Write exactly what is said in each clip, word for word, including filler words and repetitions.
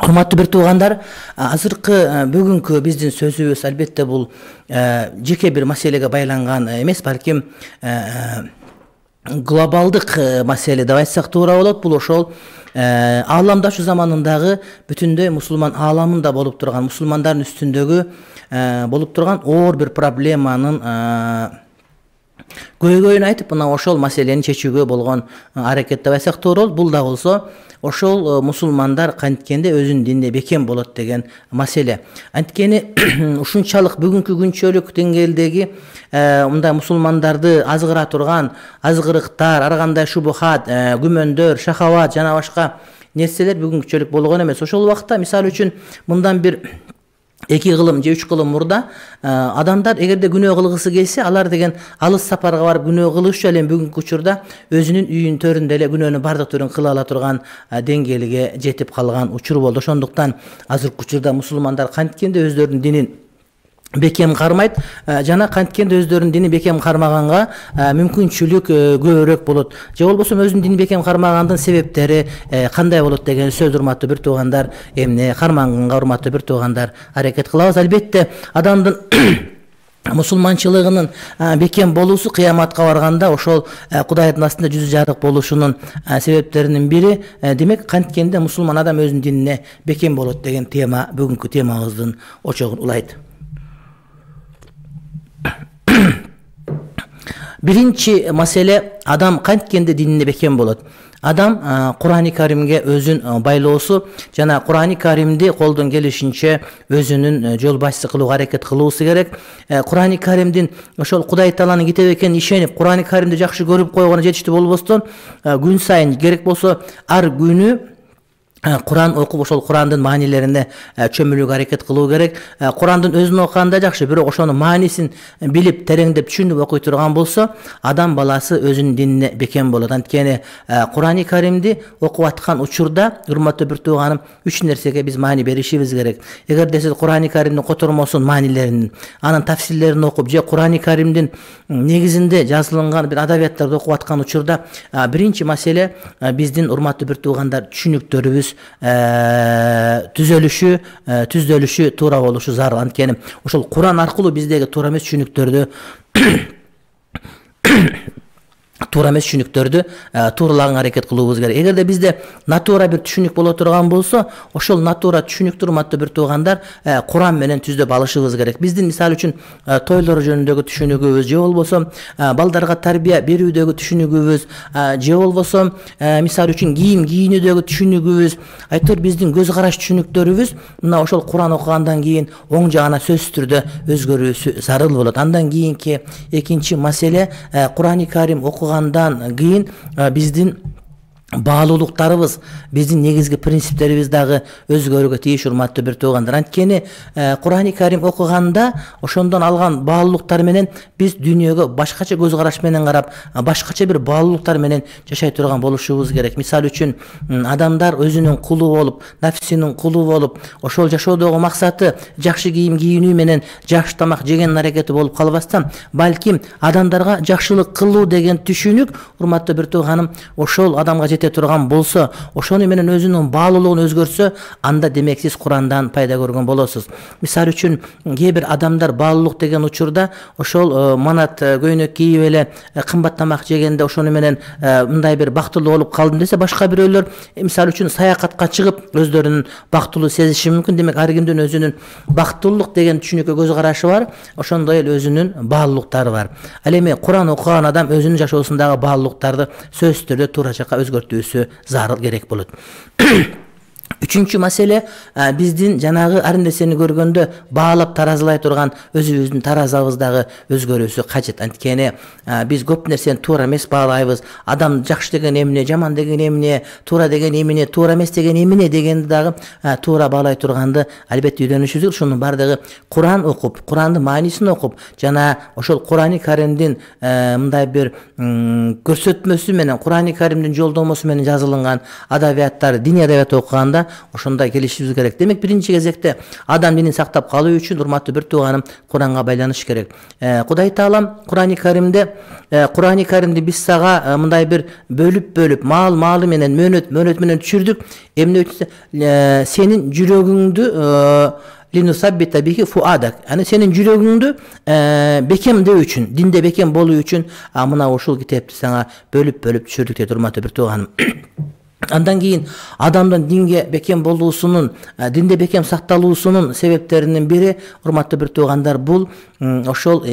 Урматтуу бир туугандар, азыркы бүгүнкү биздин сөзүбүз албетте бул жеке бир маселеге байланган эмес, балким глобалдык маселе деп айтсак туура болот. Бул ошол ааламдашу заманындагы бүтүндөй мусулман ааламында болуп турган, мусулмандардын үстүндөгү болуп турган оор бир проблеманын көйгөйүн айтып, мына ошол маселени чечүүгө болгон аракет деп айтсак туура болот. Бул да болсо ошол мусулмандар канткенде өзүнүн динине бекем болот деген маселе. Анткени ушунчалык бүгүнкү күнчөлүк деңгээлдеги мындай мусулмандарды азгыра турган азгырыктар, ар кандай шубухат, күмөндөр, шахават жана башка нерселер бүгүнкүчөлүк болгон эмес. Ошол убакта мисалы үчүн мындан бир эки кылым же үч кылым мурда адамдар эгерде күнөө кылгысы келсе, алар деген алыс сапарга барып күнөө кылышчу эле бүгүнкү учурда өзүнүн үйүнүн төрүндө эле күнөөнүн бардык түрүн кыла ала турган деңгээлге жетип калган учур болду. Ошондуктан азыркы учурда мусулмандар канткенде өздөрүнүн динин бекем кармайт жана канткенде өздөрүнүн дини бекем кармаганга мүмкүнчүлүк көбүрөөк болот. Же болбосо өзүнүн дини бекем кармагандын себептери кандай болот деген сөз, урматтуу бир туугандар, эмне карманганга урматтуу бир туугандар аракет кылабыз. Албетте адамдын мусулманчылыгынын бекем болуусу кыяматка барганда ошол Кудайдын астында жүзү жарык болушунун себептеринин бири демек канткенде мусулман адам өзүнүн динине бекем болот деген тема бүгүнкү темабыздын очогун улайт. Биринчи маселе, адам канткенде динине бекем болот. Адам Кур'ан-ы Каримге өзүн байлоосу жана Кур'ан-ы Каримди колдон келишинче өзүнүн жол башчысы кылууга аракет кылуусу керек. Кур'ан-ы Каримдин ошол Кудай Тааланын китеби экенине ишенип, Кур'ан-ы Каримди жакшы көрүп койгону жетиштүү болбостон, күн сайын керек болсо ар күнү Кур'ан окуп, ошол Кур'андын маанилерине чөмүлүүгө аракет кылуу керек. Кур'андын өзүн окуганда жакшы, бирок ошонун маанисин билип, тереңдеп түшүнүп окуй турган болсо, адам баласы өзүнүн динине бекем болот. Анткени Кур'ан-ы Каримди окуп аткан учурда, урматтуу бир тууганым, үч нерсеге биз маани беришибиз керек. Эгерде сиз Кур'ан-ы Каримдин котормосун, маанилерин, анын тафсирлерин окуп, же Кур'ан-ы Каримдин негизинде жазылган бир адабияттарды окуп аткан учурда, биринчи маселе биздин урматтуу бир туугандар түшүнүктөрүбүз түзөлүшү, түздөлүшү туура болушу зарыл. Анткени ошол Кур'ан аркылуу биздеги туура эмес түшүнүктөрдү туура эмес түшүнүктөрдү тууралаганга аракет кылуубуз керек. Эгерде бизде натура бир түшүнүк боло турган болсо, ошол натура түшүнүктү урматтуу бир туугандар Кур'ан менен түздөп алышыбыз керек. Биздин мисалы үчүн тойлор жөнүндөгү түшүнүгүбүз, же болбосо балдарга тарбия берүүдөгү түшүнүгүбүз, же болбосо мисалы үчүн кийим кийинүүдөгү түшүнүгүбүз, айтор биздин көз караш түшүнүктөрүбүз мына ошол Кур'ан окугандан кийин оң жагына сөзсүз түрдө өзгөрүүсү зарыл болот. Андан кийинки экинчи маселе, Кур'ан-ы Карим окуган андан кийин биздин баалуулуктарыбыз, биздин негизги принциптерибиз дагы өзгөрүүгө тийиш, урматтуу бир туугандар. Анткени Кур'ан-ы Карим окуганда ошондон алган баалуулуктар менен биз дүйнөгө башкача көз караш менен карап, башкача бир баалуулуктар менен жашай турган болушубуз керек. Мисалы үчүн адамдар өзүнүн кулу болуп, нафсинин кулу болуп, ошол жашоодогу максаты жакшы кийим кийинүү менен жакшы тамак жегенин аракети болуп калбастан, балким адамдарга жакшылык кылуу деген түшүнүк, урматтуу бир тууганым, ошол адамга турган болсо, ошону менен өзүнүн баалуулугун өзгөртсө, анда демек сиз Курандан пайда көргөн болосуз. Мисалы үчүн кээ бир адамдар баалуулук деген учурда ошол манат көйнөк кийип эле кымбат тамак жегенде ошону менен мындай бир бактылуу болуп калдым десе, башка бирөөлөр мисалы үчүн саякатка чыгып өздөрүнүн бактылуу сезиши мүмкүн. Демек ар кимдин өзүнүн бактылуулук деген түшүнүккө көз карашы бар, ошондой эле өзүнүн баалуулуктары бар. Ал эми Куран окуган адам өзүнүн жашоосундагы баалуулуктарды сөзсүз түрдө туура жакка өзгөртүүсү зарыл керек болот. Үчүнчү маселе, биздин жанагы ар нерсени көргөндө баалап таразылай турган өзүбүздүн таразабыздагы өзгөрүүсү кажет. Анткени биз көп нерсени туура эмес баалайбыз. Адам жакшы деген эмне, жаман деген эмне, туура деген эмне, туура эмес деген эмне дегенди дагы туура баалай турганды албетте үйрөнүшүбүз керек. Ушунун бардыгы Кур'ан окуп, Кур'андын маанисин окуп, жана ошол Кур'ан-ы Каримдин мындай бир көрсөтмөсү менен, Кур'ан-ы Каримдин жолдомосу менен жазылган адабияттар, диний адабият окуганда учурунда ошондой келишибиз керек. Демек биринчи кезекте адам динин сактап калуу үчүн урматтуу бир тууганым Куранга байланыш керек. Кудай Таалам Курани Каримде Курани Каримди биз сага мындай бир бөлүп-бөлүп маал маалы менен мөөнөт мөөнөт менен түшүрдүк. Эмне үчүн сенин жүрөгүңдү линусаббита бихи фуадак. Аны сенин жүрөгүңдү бекемдөө үчүн, динде бекем болуу үчүн мына ушул китепти сага бөлүп-бөлүп түшүрдүк дейт урматтуу бир тууганым. Андан кийин адамдын динге бекем болуусунун, динде бекем сакталуусунун себептеринин бири урматтуу бир туугандар бул ошол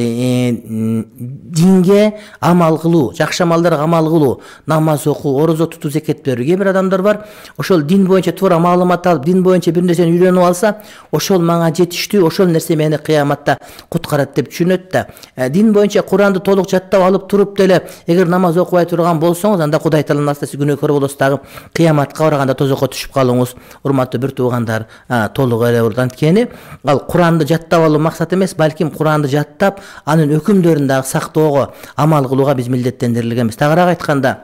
динге амал кылуу, жакшы амалдарга амал кылуу, намаз окуу, орозо тутуу, зекет берүү. Кээ бир адамдар бар, ошол дин боюнча туура маалымат алып, дин боюнча бир нерсени үйрөнүп алса, ошол мага жетиштүү, ошол нерсе мени кыяматта куткарат деп түшүнөт да. Дин боюнча Куранды толук жаттап алып туруп деле эгер намаз окубай турган болсоңуз, анда Кудай Тааланын алдында сиз күнөөкөр болосуз дагы кыяматка барганда тозокко түшүп калууңуз урматтуу бир туугандар толук эле болот. Анткени ал Куранды жаттап алуу максат эмес, балким Куранды жаттап анын өкүмдөрүн дагы сактоого, амал кылууга биз милдеттендирилгенбиз. Тагыраак айтканда,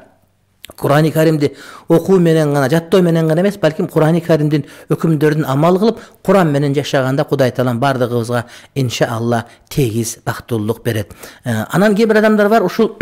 Курани Каримди окуу менен гана, жаттоо менен гана эмес, балким Курани Каримдин өкүмдөрүн амал кылып, Куран менен жашаганда Кудай Таалам бардыгыбызга иншаалла тегиз бактылуулук берет. Анан кээ бир адамдар бар, ушул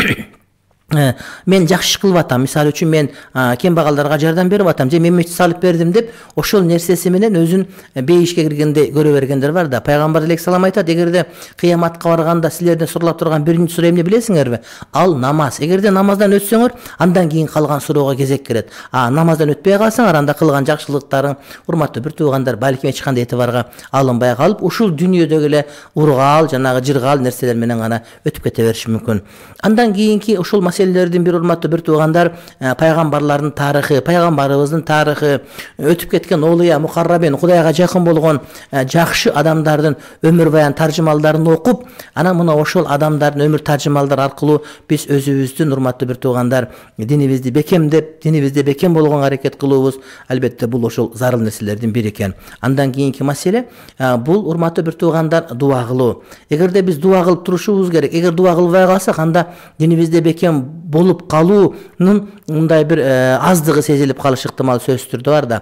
мен жакшы иш кылып атам, мисалы үчүн мен кембагалдарга жардам берип атам, же мен мечит салып бердим деп, ошол нерсеси менен өзүн бейишке киргендей көрө бергендер бар да. Пайгамбар алейхиссалам айтат, эгерде кыяматка барганда силерден суралап турган биринчи суроо эмне билесиңерби? Ал намаз. Эгерде намаздан өтсөңөр, андан кийин калган суроого кезек келет. А намаздан өтпөй калсаңар, анда кылган жакшылыктарың урматтуу бир туугандар балким эч кандай этибарга алынбай калып, ушул дүйнөдөгү эле ургаал, жанагы жыргаал нерселер менен гана өтүп кете бериши мүмкүн. Андан кийинки ушул маселелердин бир урматтуу бир туугандар пайгамбарлардын тарыхы, пайгамбарыбыздын тарыхы, өтүп кеткен олуя, мукаррабин, Кудайга жакын болгон жакшы адамдардын өмүр баян таржымалдарын окуп, анан мына ошол адамдардын өмүр таржымалдары аркылуу биз өзүбүздүн урматтуу бир туугандар динибизди бекемдеп, динибизде бекем болгонго аракет кылуубуз. Албетте бул ошол зарыл нерселердин бири экен. Андан кийинки маселе бул урматтуу бир туугандар дуа кылуу. Эгерде биз дуа кылып турушубуз керек, эгер дуа кылбай калсак, анда динибизде бекем болуп калуунун мындай бир аздыгы сезилип калышы ыктымал сөзсүз түрдө бар да.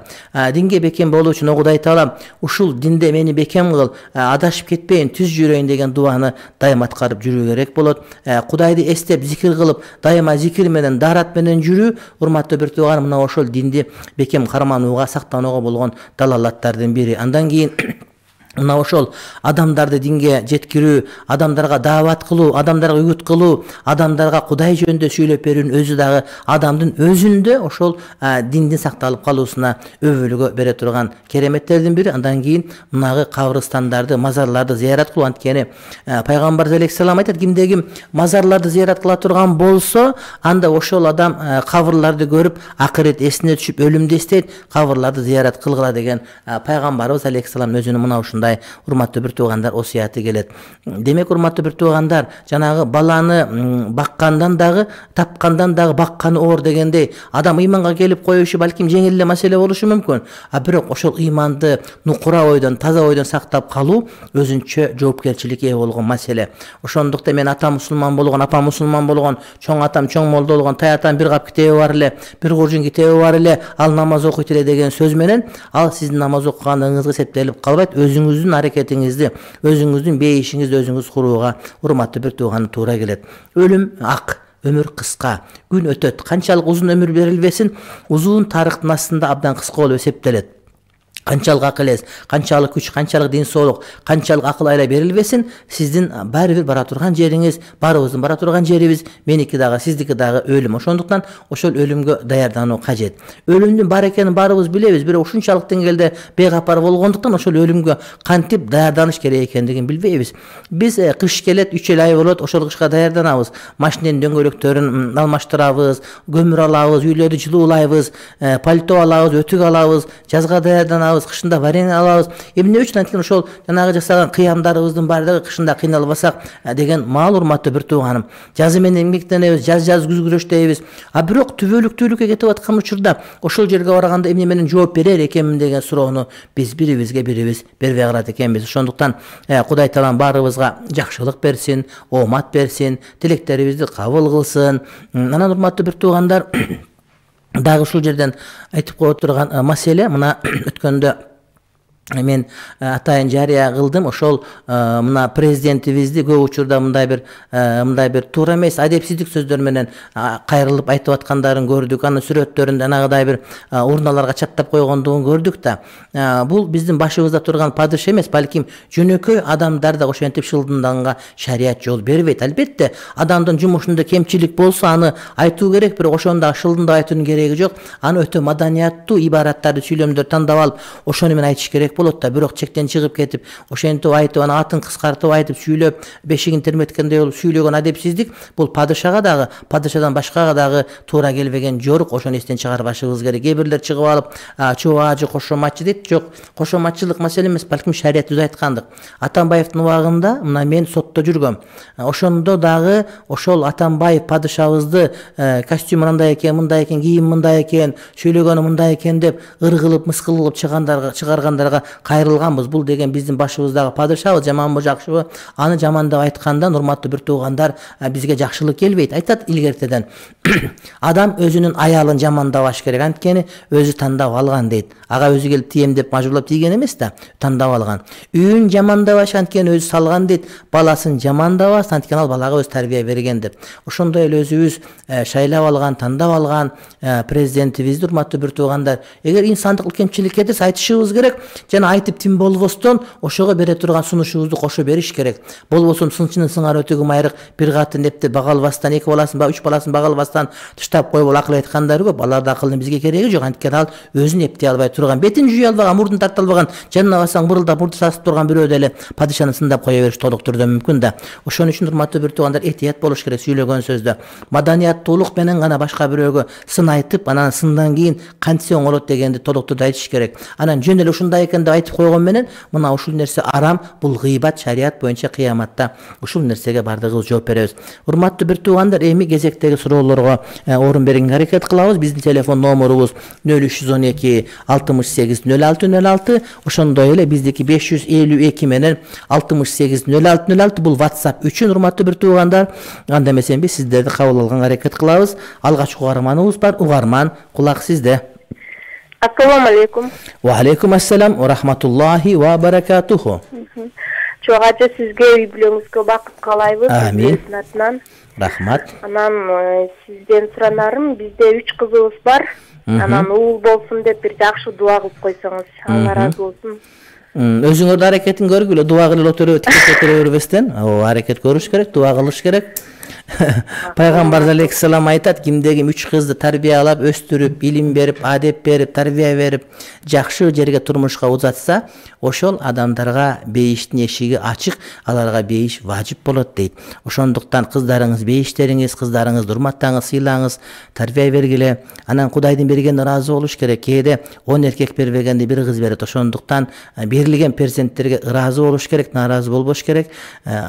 Динге бекем болуу үчүн Кудай Таалам ушул динде мени бекем кыл, адашып кетпейин, түз жүрөйүн деген дуаны дайыма аткарып жүрүү керек болот. Кудайды эстеп, зикир кылып, дайыма зикир менен, даарат менен жүрүү урматтуу бир тууган мына ошол динди бекем карманууга, сактанууга болгон далалаттардын бири. Андан кийин мына ошол адамдарды динге жеткирүү, адамдарга даават кылуу, адамдарга үгүт кылуу, адамдарга Кудай жөнүндө сүйлөп берүүнүн өзү дагы адамдын өзүндө ошол диндин сакталып калуусуна өбөлгө бере турган кереметтердин бири. Андан кийин мынагы кабырстандарды, мазарларды зыярат кылуу. Анткени пайгамбар алейхиссалам айтат, кимде ким мазарларды зыярат кыла турган болсо, анда ошол адам кабырларды көрүп, акырет эсине түшүп, өлүмдү эстейт, кабырларды зыярат кылгыла деген пайгамбарыбыз алейхиссалам өзүнүн мына ушундай урматтуу бир туугандар осуяты келет. Демек урматтуу бир туугандар, жанагы баланы баккандан дагы, тапкандан дагы бакканы оор дегендей, адам ыйманга келип коюшу балким жеңил эле маселе болушу мүмкүн. А бирок ошол ыйманды нукура ойдон, таза ойдон сактап калуу өзүнчө жоопкерчиликке ээ болгон маселе. Ошондуктан мен атам мусулман болгон, апам мусулман болгон, чоң атам чоң молдо болгон, тай атам бир кап китеби бар эле, бир куржун китеби бар эле, ал намаз окуйт эле деген сөз менен ал сиздин намаз окуганыңызга эсептелип калбайт. Өзүңүздүн аракетиңизди, өзүңүздүн бейишиңизди өзүңүз курууга урматтуу бир тууганы туура келет. Өлүм ак, өмүр кыска, күн өтөт. Канчалык узун өмүр берилбесин, узун тарыхтын астында абдан кыска болуп эсептелет. Канчалык акыл эс, канчалык күч, канчалык ден соолук, канчалык акыл айла берилбесин, сиздин баары бир бара турган жериңиз, баарыбыздын бара турган жерибиз, меники дагы, сиздики дагы өлүм. Ошондуктан ошол өлүмгө даярдануу кажет. Өлүмдүн бар экенин баарыбыз билебиз, бирок ушунчалык деңгээлде бейкапар болгондуктан ошол өлүмгө кантип даярданыш керек экендигин билбейбиз. Биз кыш келет, үч эл ай болот, ошол кышка даярданабыз. Машиненин дөңгөлөктөрүн алмаштырабыз, көмүр алабыз, үйлөрдү жылуулайбыз, пальто алабыз, өтүк алабыз, жазга даярданабыз, кышында варенье алабыз. Эмне үчүн? Анткени ошол жанагы жасаган кыямдарыбыздын баардыгы кышында кыйналбасак деген маал урматтуу бир тууганым. Жазы менен эмгектенебиз, жаз жаз күз күрөштөйбүз. А бирок түбөлүктүүлүккө кетип аткан учурда ошол жерге барганда эмне менен жооп берер экенмин деген суроону биз бирибизге бирибиз бербей калат экенбиз. Ошондуктан Кудай Таалам баарыбызга жакшылык берсин, оомат берсин, тилектерибизди кабыл кылсын. Анан урматтуу бир туугандар, дагы ушул жерден айтып кое турган маселе мына өткөндө мен атайын жарыя кылдым. Ошол мына президентибизди көп учурда мындай бир мындай бир туура эмес адепсиздик сөздөр менен кайрылып айтып аткандарын көрдүк. Анын сүрөттөрүндө анагыдай бир урналарга чаптап койгондугун көрдүк да. Бул биздин башыбызда турган падыш эмес, балким жөнөкөй адамдар да ошентип шылдынганга шарият жол бербейт. Албетте, адамдын жумушунда кемчилик болсо аны айтуу керек, бирок ошондо шылдындап айтуунун кереги жок. Аны өтө маданияттуу ибараттарды, сүйлөмдөрдү тандап алып, ошону менен айтыш керек болот да. Бирок чектен чыгып кетип, ошентип айтып, аны атын кыскартып айтып, сүйлөп, бешигин терметкендей болуп сүйлөгөн адепсиздик бул падышага дагы, падышадан башкага дагы туура келбеген жорук. Ошону эстен чыгарбашыбыз керек. Кээ бирлер чыгып алып, чубаажы, кошоматчы дейт. Жок, кошоматчылык маселе эмес, балким шарият өзү айткандык. Атамбаевдин убагында мына мен сотто жүргөм. Ошондо дагы ошол Атамбаев падышабызды костюм мындай экен, мындай экен, кийим мындай экен, сүйлөгөнү мындай экен деп ыр кылып, мыскыл кылып чыгандарга, чыгаргандарга кайрылганбыз. Бул деген биздин башыбыздагы падышабы, жаманбы, жакшыбы? Аны жамандап айтканда, урматтуу бир туугандар, бизге жакшылык келбейт. Айтат илгертеден. Адам өзүнүн аялын жамандабаш керек, анткени өзү тандап алган дейт. Ага өзү келип тием деп мажбурлап тийген эмес да, тандап алган. Үйүн жамандабаш, анткени өзү салган дейт. Баласын жамандабас, анткени ал балага өз тарбия берген деп. Ошондой эле өзүбүз шайлап алган, тандап алган президентибизди, урматтуу бир туугандар, эгер инсандык кемчилик кетирсе айтышыбыз керек, жана айтып тим болбостон ошого бере турган сунушубузду кошо бериш керек. Болбосо сынчынын сыңары өтөгү майрык бир катын депти бага албастан, эки баласын ба үч баласын бага албастан таштап коюп акыл айткандар көп. Алардын акылынын бизге кереги жок, анткени ал өзүн эптей албай турган, бетин жуя албаган, мурдун тарта албаган, жанына барсаң мырылдап мурду сасып турган бирөө деле падышаны сындап кое бериш толук түрдө мүмкүн да. Ошон үчүн урматтуу бир туугандар, этият болуш керек сүйлөгөн сөздө. Маданияттуулук менен гана башка бирөөгө сын айтып, анан сындан кийин кантсе оңолот дегенди толук түрдө айтыш керек. Анан жөн эле ушундай экен деп айтып койгон менен мына ушул нерсе арам, бул гыйбат, шарият боюнча кыяматта ушул нерсеге бардыгыбыз жооп беребиз. Урматтуу бир туугандар, эми кезектеги суроолорго орун бергенге аракет кылабыз. Биздин телефон номерубуз нөл үч жүз он эки алтымыш сегиз нөл алты нөл алты, ошондой эле биздики беш жүз элүү эки менен алтымыш сегиз нөл алты нөл алты, бул WhatsApp үчүн урматтуу бир туугандар. Анда эмесен биз сиздерди кабыл алганга аракет кылабыз. Алгач угарманыбыз бар. Угарман, кулак сизде. Ассаламу алейкум. Ва алейкум ассалам ва рахматуллахи ва баракатуху. Чоң ажа, сизге үй бүлөңүзгө бакыт каалайбыз. Амин. Атынан. Рахмат. Анан сизден суранарым, бизде үч кызыбыз бар. Анан уул болсун деп бир жакшы дуа кылып койсоңуз, Алла ыраазы болсун. Өзүңөр да аракетин көргүлө, дуа кылып отуруп, тикеп отура бербестен, аракет көрүш керек, дуа кылыш керек. Пайгамбар алейхиссалам айтат, кимде ким үч кызды тарбиялап, өстүрүп, илим берип, адеп берип, тарбия берип, жакшы жерге турмушка узатса, ошол адамдарга бейиштин эшиги ачык, аларга бейиш важип болот дейт. Ошондуктан кыздарыңыз бейиштериңиз, кыздарыңызды урматтаңыз, сыйлаңыз, тарбия бергиле. Анан Кудайдын бергенине ыраазы болуш керек. Кээде он эркек бербегенди бир кыз берет. Ошондуктан берилген перзенттерге ыраазы болуш керек, нааразы болбош керек.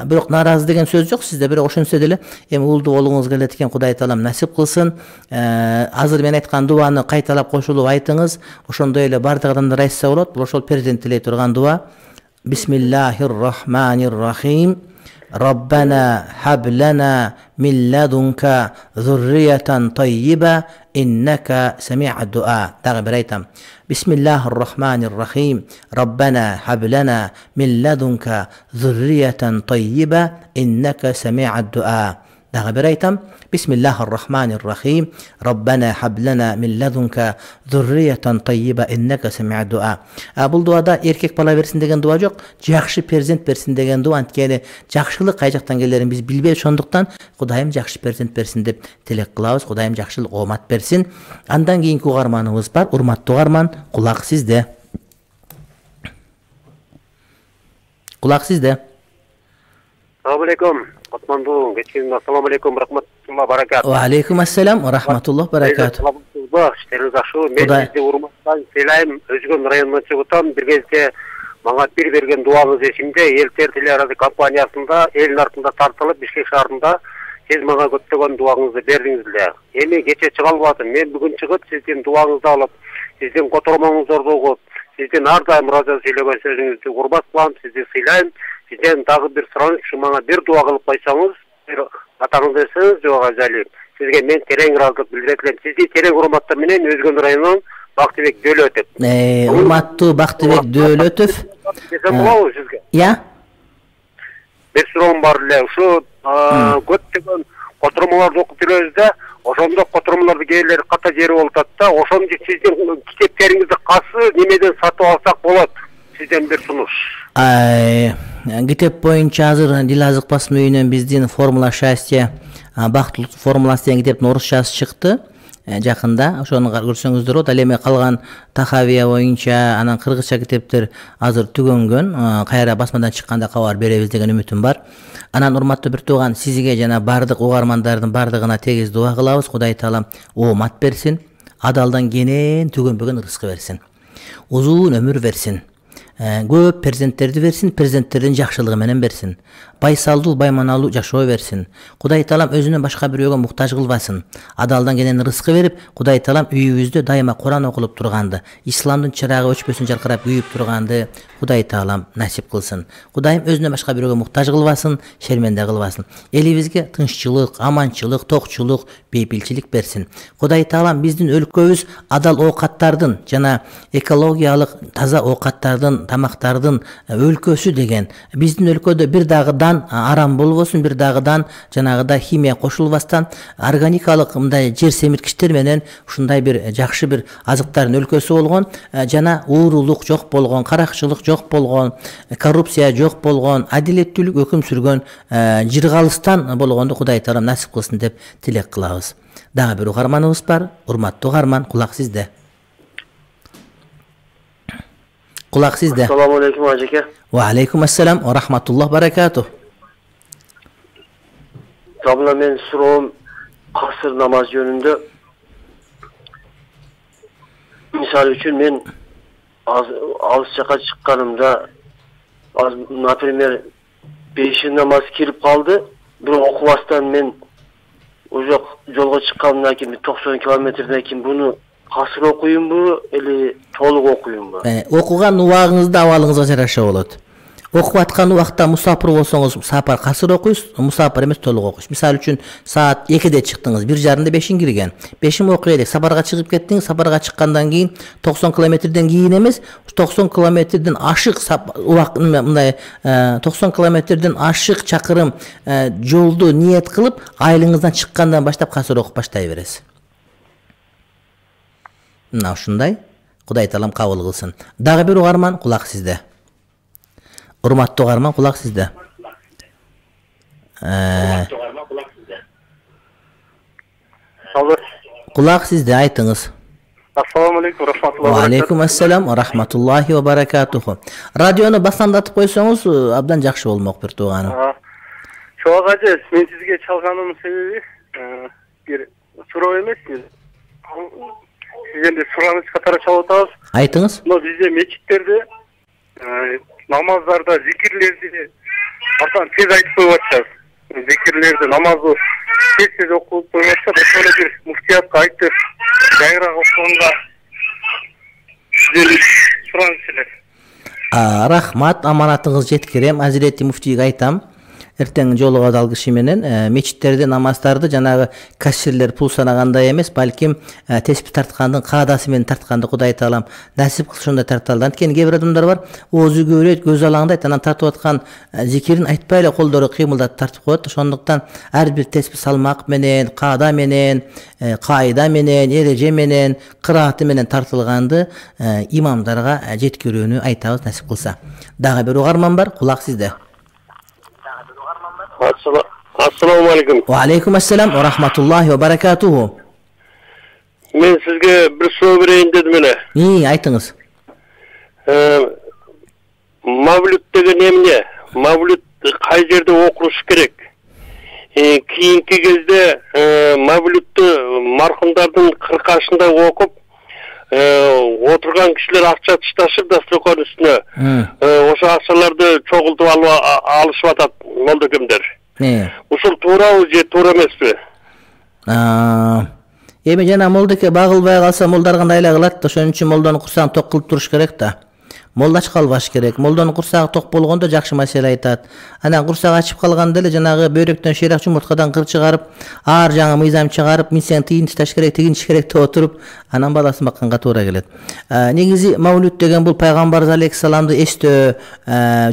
Бирок нааразы деген сөз жок сизде, бирок ошентсе деле эми уулду болуңуз келет экен, Кудай таалам насип кылсын. Азыр мен айткан дуаны кайталап кошулуп айтыңыз. Ошондой эле бардык адамдар айтса болот. Бул ошол перзент тилей турган дуа. Бисмиллахир-рахманир-рахим. Rabbana hab lana min ladunka zurriyatan tayyiba innaka sami'ud du'a. Дагы бир айтам. Бисмиллахир-рахманир-рахим. Rabbana hab lana min ladunka zurriyatan tayyiba innaka sami'ud du'a. Дагы бир айтам. Бисмиллахир-рахманир-рахим. Rabbana hab lana min ladunka zurriyatan tayyiba innaka sami'ud du'a. Бул дуада эркек бала берсин деген дуа жок, жакшы перзент берсин деген дуа. Анткени жакшылык кай жактан келерин биз билбейбиз. Ошондуктан Кудайым жакшы перзент берсин деп тилек кылабыз. Кудайым жакшылык, оомат берсин. Андан кийинки угарманыбыз бар. Урматтуу угарман, кулак сизде. Кулак сизде. Assalamu alaikum. Атманду, кечкин ассаламу алейкум, рахматуллах баракат. Ва алейкум ассалам, рахматуллах баракат. Иштериңиз жакшы. Мен сизди урматтан сыйлайм. Өзгөн районунан чыгып атам. Бир кезде мага бир берген дуаңыз эсимде. Элтер телерадио компаниясында элдин артында тартылып, Бишкек шаарында сиз мага көптөгөн дуаңызды бердиңиз эле. Эми кече чыга албадым. Мен бүгүн чыгып сиздин дуаңызды алып, сиздин котормоңуздарды угуп, сиздин ар дайым ыраазы сүйлөгөн сөзүңүздү урмат кылам, сизди сыйлайм. Сизден дагы бир сураныч, мага бир дуа кылып койсоңуз, бир атаңызды эсеңиз, жок ажалип. Сизге мен терең ыраазычылык билдире элем. Сизди терең урматтоо менен Өзгөн районунун Бактыбек Дөөлөтөв. Э, урматтуу Бактыбек Дөөлөтөв. Десем болобу сизге? Я? Бир суроом бар эле. Ушу көптөгөн котурмаларды окуп жүрөбүз да, ошондо котурмаларды кээ ката жери болуп атат да, ошондо сиздин китептериңизди кайсы немеден сатып алсак болот? Сизден бир сунуш. Китеп боюнча азыр Дилазык басма үйүнөн биздин формула счастья, бактылык формуласы деген китептин орусчасы чыкты. Жакында ошону көрсөңүздөр болот. Ал эми калган Тахавия боюнча анан кыргызча китептер азыр түгөнгөн. Кайра басмадан чыкканда кабар беребиз деген үмүтүм бар. Анан урматтуу бир тууган, сизге жана бардык угармандардын бардыгына тегиз дуа кылабыз. Кудай таалам оомат берсин, адалдан кенен түгөнбөгөн рызкы берсин. Узун өмүр берсин. Көп перзенттерди берсин, перзенттердин жакшылыгы менен берсин. Байсалдуу, байманалуу жашоо берсин. Кудай таалам өзүнөн башка бирөөгө муктаж кылбасын. Адалдан кенен рызкы берип, Кудай таалам үйүбүздө дайыма Куран окулуп турганды, исламдын чырагы өчпөсүн жаркырап күйүп турганды Кудай таалам насип кылсын. Кудайым өзүнөн башка бирөөгө муктаж кылбасын, шерменде кылбасын. Элибизге тынччылык, аманчылык, токчулук, бейпилчилик берсин. Кудай таалам биздин өлкөбүз адал оокаттардын жана экологиялык таза оокаттардын, тамактардын өлкөсү деген. Биздин өлкөдө бир дагыдан арам болбосун, бир дагыдан жанагыдай химия кошулбастан органикалык мындай жер семирткичтер менен ушундай бир жакшы бир азыктардын өлкөсү болгон, жана уурулук жок болгон, каракчылык жок болгон, коррупция жок болгон, адилеттүүлүк өкүм сүргөн жыргалыстан болгонду Кудай таалам насип кылсын деп тилек кылабыз. Дагы бир угарманыбыз бар. Урматтуу угарман, кулак сизде. Кулак сизде. Ассаламу алейкум ажеке. Ва алейкум ассалам ва рахматуллах баракатух. Жабына мен суроом касыр намаз жөнүндө. Мисалы үчүн мен алыс жака чыкканымда, например, беш намаз кирип калды, бирок окубастан мен уже жолго чыккандан кийин токсон километрден кийин буну касыр окуймбу или толук окуймбу? Окуган убагыңызды абалыңызга жараша болот. Окуп аткан убакта мусапыр болсоңуз сапар касыр окуйсуз, мусапыр эмес толук окуйсуз. Мисалы үчүн саат экиде чыктыңыз, бир жарымда бешин кирген. бешин окуй элек, сапарга чыгып кеттиңиз, сапарга чыккандан кийин токсон километрден кийин эмес, токсон километрден ашык убак мындай токсон километрден ашык чакырым жолду ниет кылып, айылыңыздан чыккандан баштап касыр окуп баштай бересиз. Мына ушундай. Кудай таалам кабыл кылсын. Дагы бир угарман, кулак сизде. Урматтуу угарман, кулак сизде. Кулак сизде, айтыңыз. Ассаламу алейкум, рахматуллахи. Ва алейкум ассалам ва рахматуллахи ва баракатуху. Радиону басандатып койсоңуз абдан жакшы болмок бир тууганым. Чоң ажа, мен сизге чалганымдын себеби бир суроо эмес. Сизден сураныч катары чалып атабыз. Айтыңыз. Но бизде мечиттерде намаздарда зикирлерди артан тез айтып коюп атышат. Зикирлерди, намазды тез-тез окуп коюп атышат. Ошону бир муфтиятка айтып, жайыраак окуганга сизден сураныч эле. Рахмат, аманатыңыз жеткирем. Азирети муфтийге айтам. Эртең жолугат ал киши менен мечиттерде намаздарды жанагы кассирлер пул санагандай эмес, балким теспи тарткандын каадасы менен тартканды Кудай таалам насип кылсын, ошондой тарталды. Анткени кээ бир адамдар бар, оозу көбөйөт, көз алаңдайт, анан тартып аткан зикирин айтпай эле колдору кыймылдатып тартып коет. Ошондуктан ар бир теспи салмак менен, каада менен, кайда менен, эреже менен, кырааты менен тартылганды имамдарга жеткирүүнү айтабыз, насип кылса. Дагы бир угарман бар, кулак сизде. Ассаламу алейкум. Ва алейкум ассалам ва рахматуллахи ва баракатуху. Мен сизге бир суроо берейин дедим эле. И, айтыңыз. Мавлюд деген эмне? Мавлюд кай жерде окулуш керек? Кийинки кезде мавлюдту мархумдардын кыркашында окуп, отурган кишилер акча ташташып дасторкон үстүнө. Ошо акчаларды чогултуп алышып атат молдокемдер. Ушул туурабы же туура эмеспи? Эми жана молдоке багылбай калса молдар кандай эле кылат, ошон үчүн молдону курсагын ток кылып туруш керек да. молда ачып калбаш керек. Молдонун курсагы ток болгондо жакшы маселе айтат. Анан курсагы ачып калганда эле жанагы бөйрөктөн шыйрак жумурткадан кыр чыгарып, ар жаңы мыйзам чыгарып, мен сен тыйын тышташ керек, тыйын иш керек деп отуруп, анан баласын бакканга туура келет. Негизи Мавлуд деген бул пайгамбарыбыз алейхиссаламды эстөө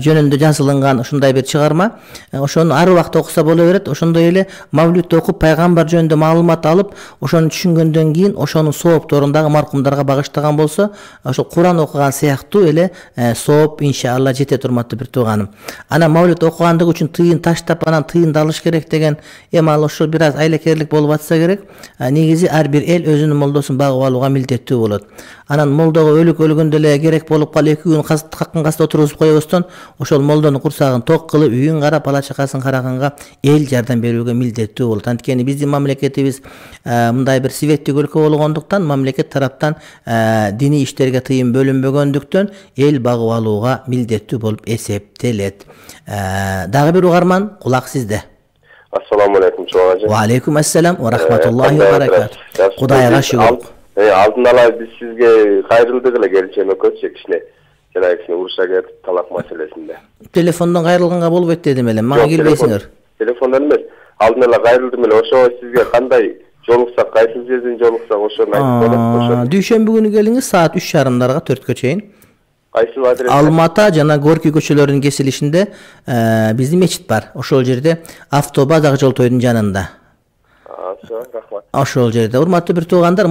жөнүндө жазылган ушундай бир чыгарма. Ошону ар убакта окуса боло берет. Ошондой эле Мавлудду окуп пайгамбар жөнүндө маалымат алып, ошону түшүнгөндөн кийин ошонун соопторундагы маркумдарга багыштаган болсо, ошо Куран окуган сыяктуу эле сооп иншалла жете турматтуу бир тууганым. Анан Мавлуд окугандыгы үчүн тыйын таштап, анан тыйынды алыш керек деген эми ал ошо бир аз айлакерлик болуп атса керек. Негизи ар бир эл өзүнүн молдосун багып алууга милдеттүү болот. Анан молдого өлүк өлгөндө эле керек болуп калып эки күн каккан каста отургузуп коебуздон, ошол молдонун курсагын ток кылып, үйүн карап, бала чакасын караганга эл жардам берүүгө милдеттүү болот. Анткени биздин мамлекетибиз мындай бир светтик өлкө болгондуктан, мамлекет тараптан диний иштерге тыйын бөлүнбөгөндүктөн эл багып алууга милдеттүү болуп эсептелет. Дагы бир угарман, кулак сизде. Ассаламу алейкум чоң ажы. Ва алейкум ассалам ва рахматуллахи ва баракат. Кудайга шүгүр. Алдын ала биз сизге кайрылдык эле келчем экөөчү кичине. Жана кичине уруша кетип талак маселесинде. Телефондон кайрылганга болбойт дедим эле. Мага келбейсиңер. Телефондон эмес. Алдын ала кайрылдым эле. Ошо сизге кандай жолуксак, кайсы жерден жолуксак ошону айтып болот. Дүйшөмбү күнү келиңиз саат үч жарымдарга төрткө чейин. Кайсы адрес? Алмата жана Горький көчөлөрүнүн кесилишинде биздин мечит бар. Ошол жерде автобаза жол тойдун жанында. Рахмат. Ошол жерде урматтуу бир туугандар,